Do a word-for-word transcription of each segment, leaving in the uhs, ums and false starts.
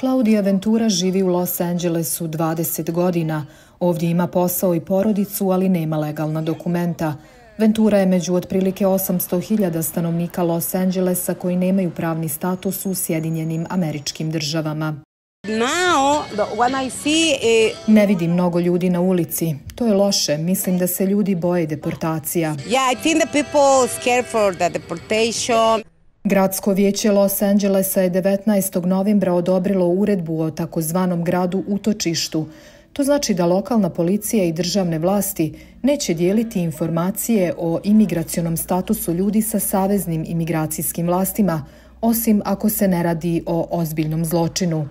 Claudia Ventura živi u Los Angelesu dvadeset godina. Ovdje ima posao i porodicu, ali nema legalna dokumenta. Ventura je među otprilike osamsto hiljada stanovnika Los Angelesa koji nemaju pravni status u Sjedinjenim Američkim Državama. Ne vidim mnogo ljudi na ulici. To je loše. Mislim da se ljudi boje deportacija. Gradsko vijeće Los Angelesa je devetnaestog novembra odobrilo uredbu o takozvanom gradu utočištu. To znači da lokalna policija i državne vlasti neće dijeliti informacije o imigracionom statusu ljudi sa saveznim imigracijskim vlastima, osim ako se ne radi o ozbiljnom zločinu.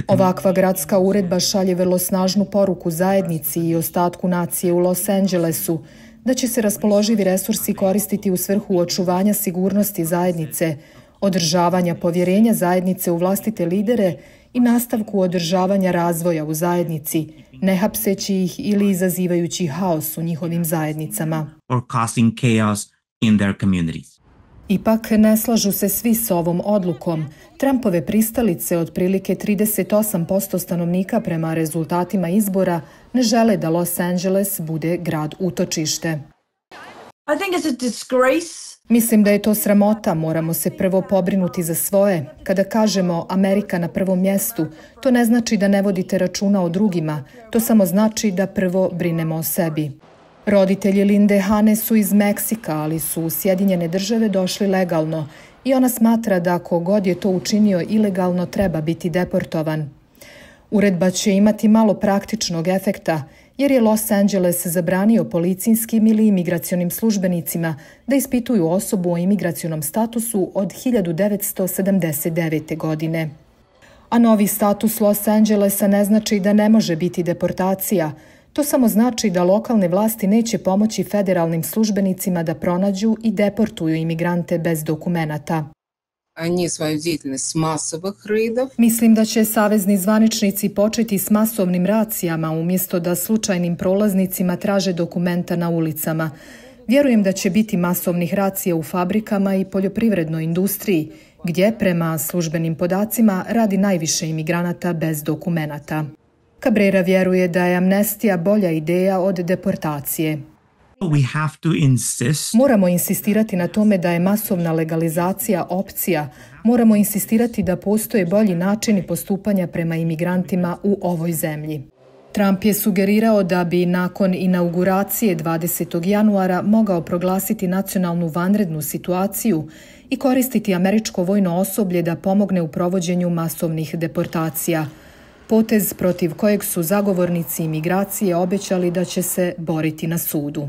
Ovakva gradska uredba šalje vrlo snažnu poruku zajednici i ostatku nacije u Los Angelesu da će se raspoloživi resursi koristiti u svrhu očuvanja sigurnosti zajednice, održavanja povjerenja zajednice u vlastite lidere i nastavku održavanja razvoja u zajednici, ne hapseći ih ili izazivajući haos u njihovim zajednicama. Ipak ne slažu se svi s ovom odlukom. Trumpove pristalice, otprilike trideset osam posto stanovnika prema rezultatima izbora, ne žele da Los Angeles bude grad utočište. Mislim da je to sramota, moramo se prvo pobrinuti za svoje. Kada kažemo Amerika na prvom mjestu, to ne znači da ne vodite računa o drugima, to samo znači da prvo brinemo o sebi. Roditelji Linde Hane su iz Meksika, ali su u Sjedinjene Države došli legalno i ona smatra da ako god je to učinio ilegalno treba biti deportovan. Uredba će imati malo praktičnog efekta jer je Los Angeles zabranio policijskim ili imigracionim službenicima da ispituju osobu o imigracionom statusu od hiljadu devetsto sedamdeset devete. godine. A novi status Los Angelesa ne znači da ne može biti deportacija. To samo znači da lokalne vlasti neće pomoći federalnim službenicima da pronađu i deportuju imigrante bez dokumenata. Mislim da će savezni zvaničnici početi s masovnim racijama umjesto da slučajnim prolaznicima traže dokumenta na ulicama. Vjerujem da će biti masovnih racija u fabrikama i poljoprivrednoj industriji, gdje, prema službenim podacima, radi najviše imigranata bez dokumenata. Cabrera vjeruje da je amnestija bolja ideja od deportacije. Moramo insistirati na tome da je masovna legalizacija opcija. Moramo insistirati da postoje bolji načini postupanja prema imigrantima u ovoj zemlji. Trump je sugerirao da bi nakon inauguracije dvadesetog januara mogao proglasiti nacionalnu vanrednu situaciju i koristiti američko vojno osoblje da pomogne u provođenju masovnih deportacija. Potez protiv kojeg su zagovornici imigracije obećali da će se boriti na sudu.